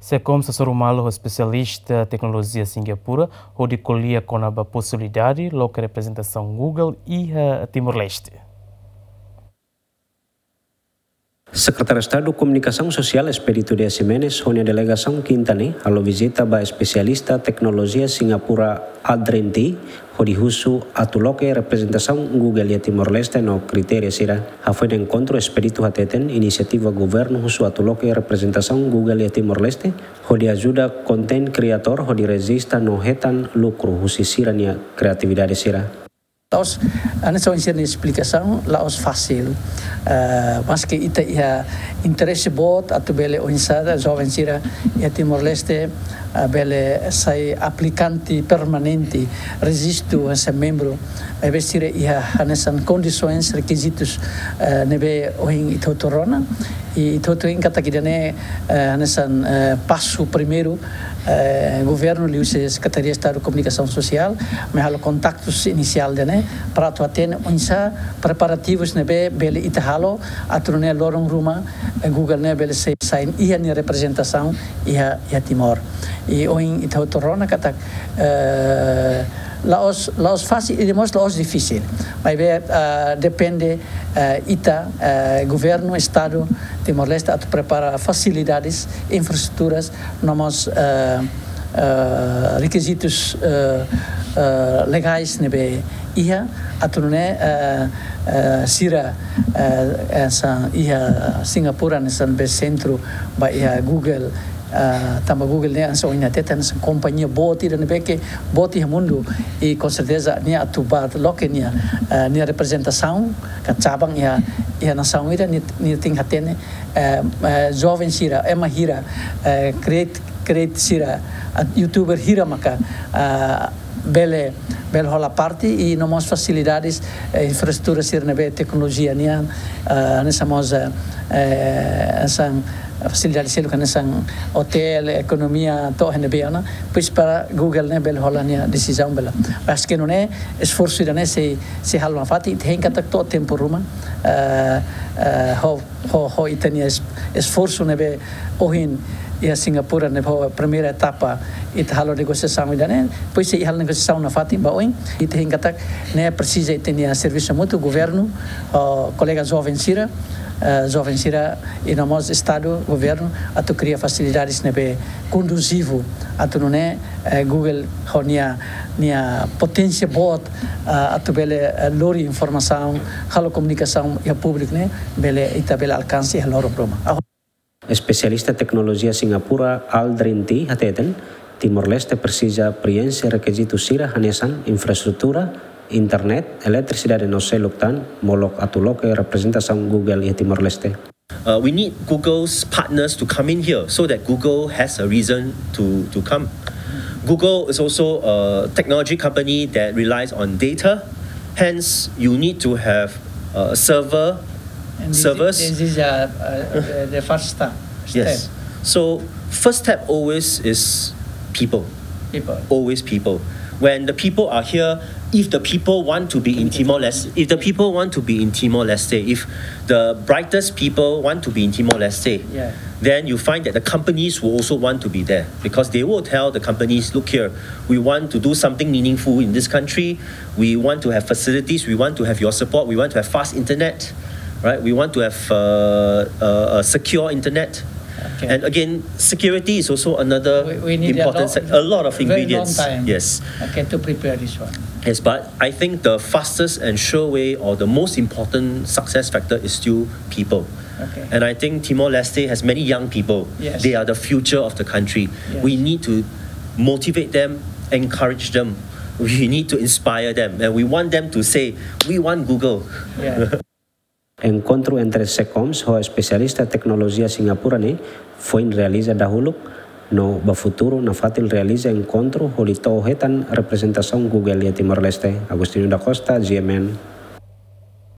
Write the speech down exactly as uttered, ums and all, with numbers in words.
SECOMS hasoru malu ho espesialista teknolojia Singapura hodi ko'alia kona-ba posibilidade loke reprezentasaun Google iha Timor-Leste. Sekretáriu Estadu Komunikasaun Sosiál Expedito Dias Ximenes ho nia delegasaun Kinta ne'e halo vizita ba espesialista teknolojia Singapura Aldrin Tee hodi husu atu loke reprezentasaun Google iha Timor-Leste no kritéria sira. Hafoin enkontru, Expedito hateten inisiativa governu husu atu loke reprezentasaun Google iha Timor-Leste hodi ajuda konten kriatór hodi rejista no hetan lukru husi sira-nia kriatividade sira. La'ós, hanesan ohin sira-nia esplikasaun, la'ós fasil. Eh, maske ita iha interese boot atu bele oinsá joven sira iha Timor-Leste, eh, bele sai aplikante permanente, rejistu hanesan membru, maibé sira iha hanesan kondisoens, rekizitus, eh, ne'ebé ohin ita hotu rona, i ita hotu hein katak ida-ne'e, eh, hanesan, eh, pasu primeiru, eh, governu liuhusi Sekretaria Estadu Komunikasaun Sosiál, mai halo kontaktus inisiál ida-ne'e, para atu hatene oinsá preparativus ne'ebé bele ita halo, atu nune'e loron ruma, eh, Google ne'e bele sai, sai iha nia reprezentasaun iha, iha Timor. I ohin ita hotu rona katak, eh, la'ós, la'ós fasil, i mós la'ós difisil. Maibé, eh, depende, eh, ita, eh, governu, Estadu Timor-Leste atu prepara fasilidades, infraestruturas, no mós, eh, eh, rekizitus, eh, eh, legais ne'ebé iha, atu nune'e, eh, eh, sira, eh, hanesan iha Singapura hanesan be sentru ba iha Google, eh, tanba Google ne'e hanesan ohin ita hateten hanesan kompañia boot ida ne'ebé ke boot iha mundu, i com certeza nia atu bá loke nia, eh, nia reprezentasaun ka cabang iha, iha nasaun ida, nia, nia tenke hatene, eh, eh, joven sira, ema hira, eh, create, create sira, ah, YouTuber hira maka, ah, bele, bele hola parte, i no mós fasilidades, eh, infraestrutura sira ne'ebé teknolojia nian, ah, hanesan mós, eh, eh, hanesan fasilidade seluk hanesan otél, ekonomia, to'o iha ne'ebé ona, pois para Google ne'e bele hola nia desizaun bele. Maske nune'e esforsu ida-ne'e sei, sei halo nafatin, ita hein katak to'o tempu ruma, eh, eh, ho, ho, ho ita-nia es-, esforsu ne'ebé ohin iha Singapura ne'e ho primeira etapa ita halo negosiasaun ida-ne'e, depois sei halo negosiasaun nafatin ba oin, ita hein katak ne'e presiza ita-nia servisu mútuu, governu, ho kolega joven sira, eh, joven sira, i no mós Estadu, governu, atu kria fasilidades ne'ebé konduzivu, atu nune'e, eh, Google ho nia, nia poténsia boot, ah, atu bele, eh, lori informasaun, halo komunikasaun iha públiku ne'e, bele, ita bele alkansa iha loron ruma. Ah, Espesialista teknolojia Singapura Aldrin Tee hateten, Timor-Leste presiza prienxe rekizitu sira hanesan infraestrutura, internet, eletrisidade no seluk tan, molok atu loke reprezentasaun Google iha Timor-Leste. Uh, we need Google's partners to come in here so that Google has a reason to, to come. Google is also a technology company that relies on data. Hence, you need to have a server, And this is, servers. This is, uh, uh, the, the first step. Yes. Step. So, first step always is people. People. Always people. When the people are here, if the people want to be in Timor-Leste, if the people want to be in Timor-Leste, if the brightest people want to be in Timor-Leste, yeah, then you find that the companies will also want to be there, because they will tell the companies, "Look here, we want to do something meaningful in this country. We want to have facilities. We want to have your support. We want to have fast internet, right? We want to have, uh, uh, a secure internet." Okay. And again, security is also another important sec-, a lot of ingredients. We, we need a lo-, very long time. Yes. Okay, to prepare this one. Yes, but I think the fastest and sure way, or the most important success factor, is still people. Okay. And I think Timor-Leste has many young people. Yes. They are the future of the country. Yes. We need to motivate them, encourage them. We need to inspire them. And we want them to say, "We want Google." Yeah. Enkontru entre SECOMS ho espesialista teknolojia Singapura ne'e foin realiza dahuluk, no ba futuru nafatin realiza enkontru hodi to'o hetan reprezentasaun Google iha Timor-Leste. Agostinho da Costa, G M N.